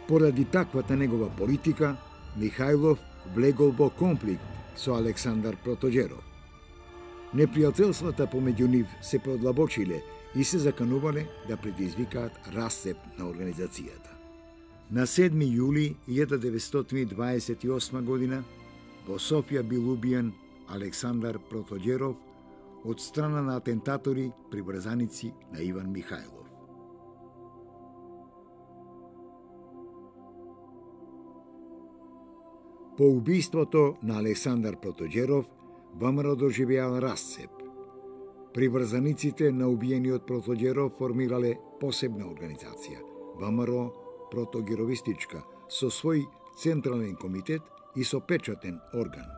Поради таквата негова политика, Михајлов влегол во конфликт со Александар Протоѓеров. Непријателствата помеѓу нив се продлабочиле и се заканувале да предизвикаат расцеп на организацијата. На седми јули илјада деветстотини дваесет и осма година во Софија бил убиен Александар Протоѓеров од страна на атентатори приврзаници на Иван Михајлов. По убиството на Александар Протоѓеров, ВМРО доживеал расцеп. Приврзаниците на убиениот Протоѓеров формирале посебна организација, ВМРО Протоѓеровистичка, со свој централен комитет и со печатен орган.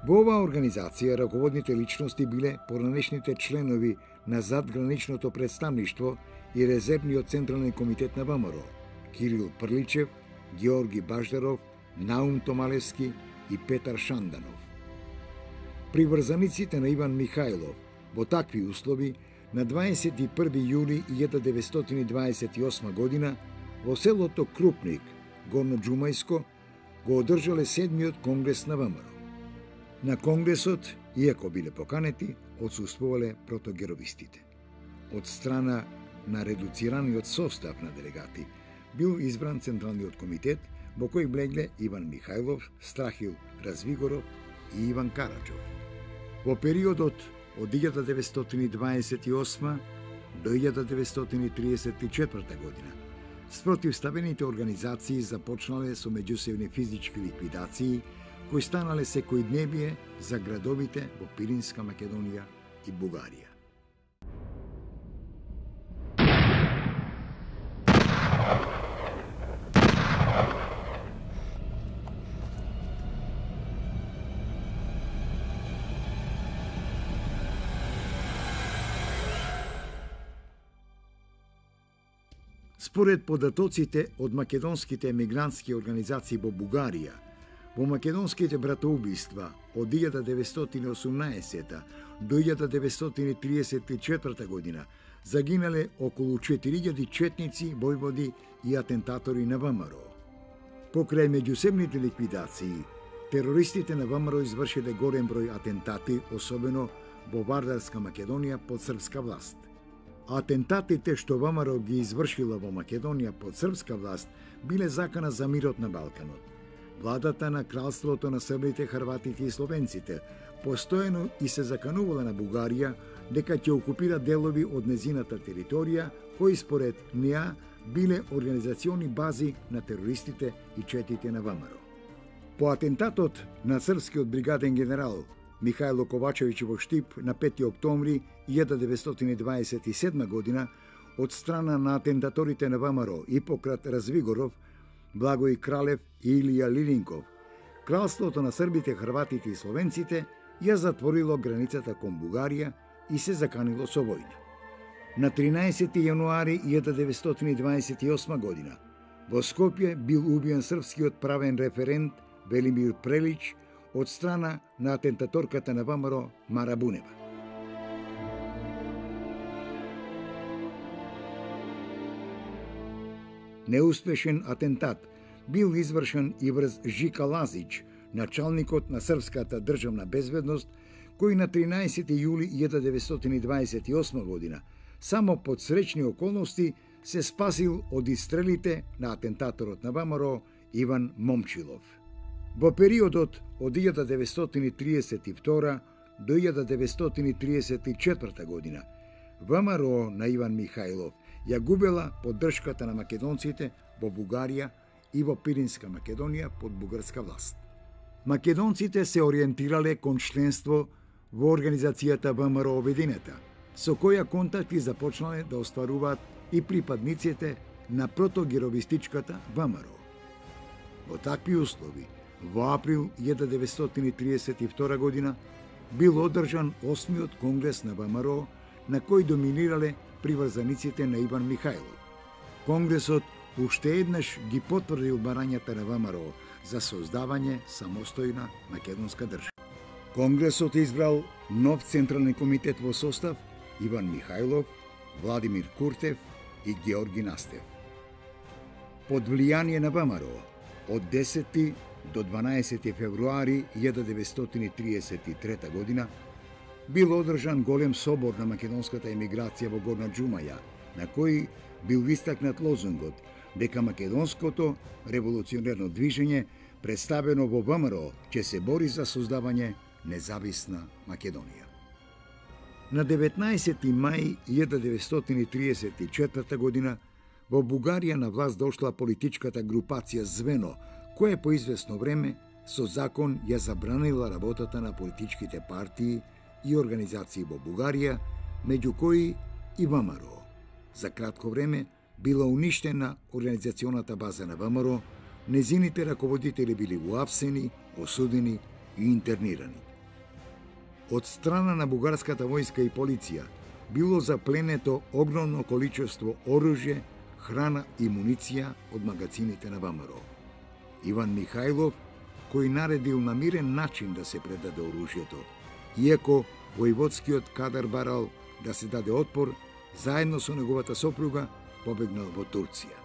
Во оваа организација раководните личности биле поранешните членови на задграничното представништво и резервниот централен комитет на ВМРО, Кирил Прличев, Георги Баждаров, Наум Томалевски и Петар Шанданов. Приврзаниците на Иван Михајлов во такви услови на дваесет и први јули илјада деветстотини дваесет и осма година во селото Крупник, Горно Џумајско, го одржале седмиот конгрес на ВМРО. На конгресот, иако биле поканети, отсуствувале протогеровистите. Од страна на редуцираниот состав на делегати бил избран Централниот комитет, во кој влегле Иван Михајлов, Страхил Развигоров и Иван Караджов. Во периодот од илјада деветстотини дваесет и осма до илјада деветстотини триесет и четврта година спротивставените организации започнале со меѓусебни физички ликвидации кои станале секојдневие за градовите во Пиринска Македонија и Бугарија. Според податоците од македонските емигрантски организации во Бугарија, во македонските братоубиства од илјада деветстотини и осумнаесета до илјада деветстотини триесет и четврта година загинале околу четири илјади четници, војводи и атентатори на ВМРО. Покрај меѓусебните ликвидации, терористите на ВМРО извршиле голем број атентати, особено во Вардарска Македонија под српска власт. Атентатите што ВМРО ги извршила во Македонија под српска власт биле закана за мирот на Балканот. Владата на кралството на србите, хрватите и словенците постојано и се заканувала на Бугарија дека ќе окупира делови од незината територија кои според неа биле организациони бази на терористите и четите на ВМРО. По атентатот на српскиот бригаден генерал Михајло Ковачевиќ во Штип на пети октомври илјада деветстотини дваесет и седма година од страна на атентаторите на ВМРО Ипократ Развигоров, Благој Кралев и Илија Лилинков, кралството на србите, хрватите и словенците ја затворило границата кон Бугарија и се заканило со војна. На тринаесети јануари илјада деветстотини дваесет и осма година во Скопје бил убиен српскиот правен референт Велимир Прелич од страна на атентаторката на ВМРО Мара Бунева. Неуспешен атентат бил извршен и врз Жика Лазич, началникот на српската државна безбедност, кој на тринаесети јули илјада деветстотини дваесет и осма година само под среќни околности се спасил од истрелите на атентаторот на ВМРО Иван Момчилов. Во периодот од илјада деветстотини триесет и втора до илјада деветстотини триесет и четврта година ВМРО на Иван Михајлов ја губела поддршката на македонците во Бугарија и во Пиринска Македонија под бугарска власт. Македонците се ориентирале кон членство во организацијата ВМРО Обединета, со која контакти започнале да остваруваат и припадниците на протогеровистичката ВМРО. Во такви услови, во април илјада деветстотини триесет и втора година бил одржан осмиот конгрес на ВМРО, на кој доминирале приврзаниците на Иван Михајлов. Конгресот уште еднаш ги потврдил барањата на ВМРО за создавање самостојна македонска држава. Конгресот избрал нов централен комитет во состав Иван Михајлов, Владимир Куртев и Георги Настев. Под влијание на ВМРО од десети до дванаесети февруари илјада деветстотини триесет и трета година бил одржан голем собор на македонската емиграција во Горна Џумаја, на кој бил истакнат лозунгот дека македонското револуционерно движење представено во ВМРО ќе се бори за создавање независна Македонија. На деветнаесети мај илјада деветстотини триесет и четврта година во Бугарија на власт дошла политичката групација Звено, која по известно време со закон ја забранила работата на политичките партии и организации во Бугарија, меѓу кои и ВМРО. За кратко време била уништена организационата база на ВМРО, незините раководители били уапсени, осудени и интернирани. Од страна на бугарската војска и полиција било запленето огромно количество оружје, храна и муниција од магазините на ВМРО. Иван Михајлов, кој наредил на мирен начин да се предаде оружјето, иако војводскиот кадар барал да се даде отпор, заедно со неговата сопруга побегнал во Турција.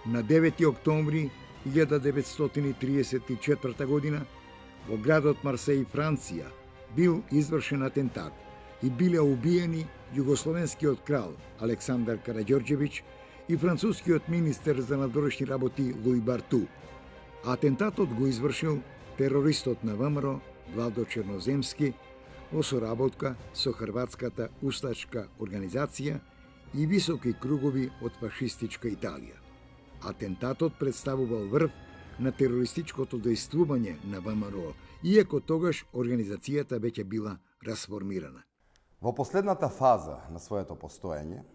На девети октомври илјада деветстотини триесет и четврта година во градот Марсеј, Франција, бил извршен атентат и биле убиени југословенскиот крал Александар Караѓорđević и францускиот министер за надворешни работи Луи Барту, Атентатот го извршил терористот на ВМРО Владо Черноземски во соработка со Хрватската устачка организација и високи кругови од фашистичка Италија. Атентатот представувал врв на терористичкото дејствување на ВМРО, иако тогаш организацијата веќе била расформирана. Во последната фаза на своето постоење,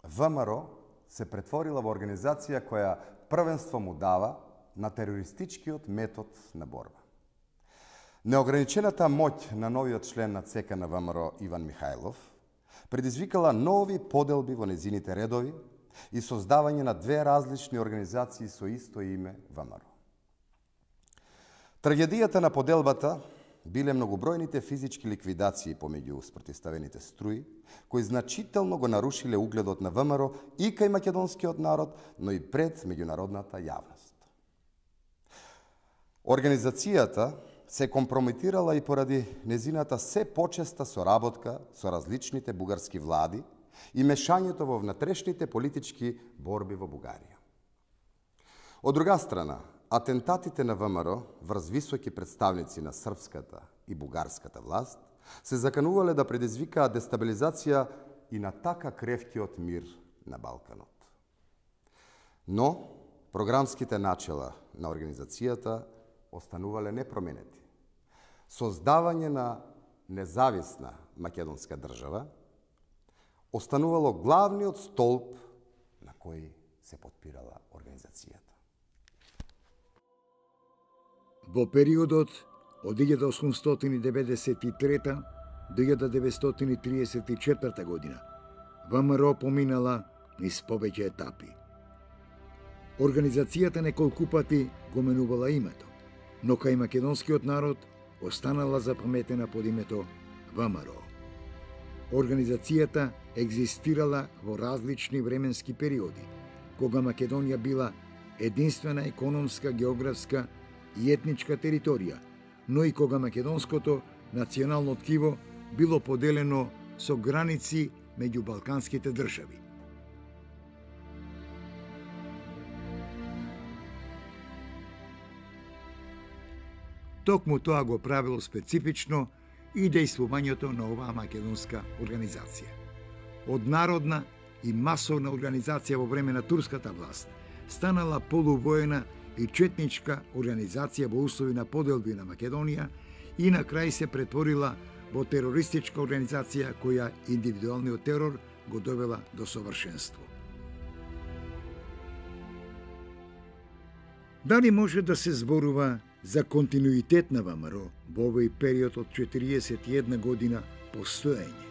ВМРО се претворила во организација која првенство му дава на терористичкиот метод на борба. Неограничената моќ на новиот член на ЦК на ВМРО Иван Михајлов предизвикала нови поделби во незините редови и создавање на две различни организации со исто име ВМРО. Трагедијата на поделбата биле многобројните физички ликвидации помеѓу спротивставените струи, кои значително го нарушиле угледот на ВМРО и кај македонскиот народ, но и пред меѓународната јавност. Организацијата се компрометирала и поради незината се почеста соработка со различните бугарски влади и мешањето во внатрешните политички борби во Бугарија. Од друга страна, атентатите на ВМРО врз високи представници на српската и бугарската власт се заканувале да предизвикаат дестабилизација и на така кревкиот мир на Балканот. Но програмските начела на организацијата останувале непроменети. Создавање на независна македонска држава останувало главниот столб на кој се потпирала организацијата. Во периодот од илјада осумстотини деветдесет и трета до илјада деветстотини триесет и четврта година ВМРО поминала низ повеќе етапи. Организацијата неколку пати го менувала името, но кај македонскиот народ останала запаметена под името ВМРО. Организацијата екзистирала во различни временски периоди, кога Македонија била единствена економска, географска и етничка територија, но и кога македонското национално ткиво било поделено со граници меѓу балканските држави. Токму тоа го правило специфично и дејствувањето на оваа македонска организација. Од народна и масовна организација во време на турската власт станала полувоена и четничка организација во услови на поделби на Македонија и на крај се претворила во терористичка организација која индивидуалниот терор го довела до совршенство. Дали може да се зборува за континуитет на ВМРО во овој период од четириесет и една година постоење?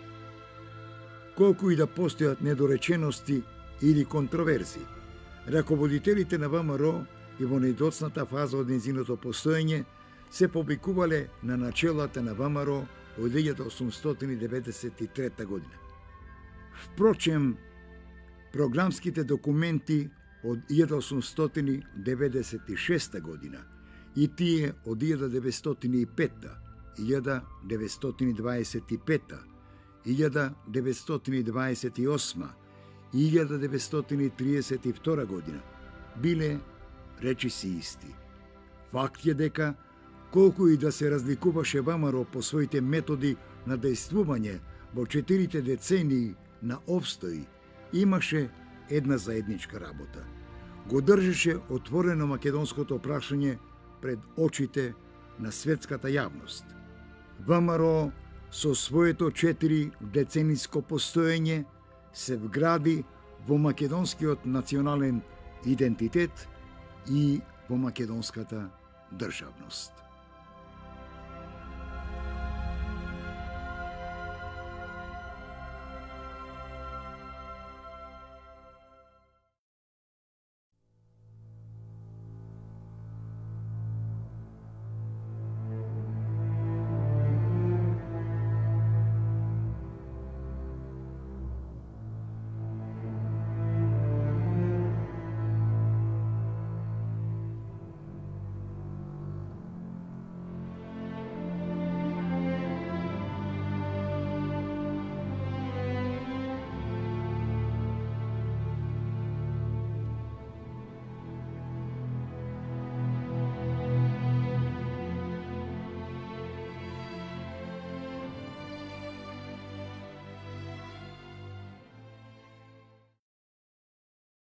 Колку и да постојат недоречености или контроверзи, раководителите на ВМРО и во најдоцната фаза од незиното постоење се повикувале на начелата на ВМРО од илјада осумстотини деветдесет и трета година. Впрочем, програмските документи од илјада осумстотини деветдесет и шеста година и тие од илјада деветстотини и петта, илјада деветстотини дваесет и петта, илјада деветстотини дваесет и осма и илјада деветстотини триесет и втора година биле речиси исти. Факт е дека, колку и да се разликуваше ВМРО по своите методи на дејствување во четирите децении на обстои, имаше една заедничка работа. Го држеше отворено македонското прашање пред очите на светската јавност. ВМРО со своето четири децениско постоење се вгради во македонскиот национален идентитет и во македонската државност.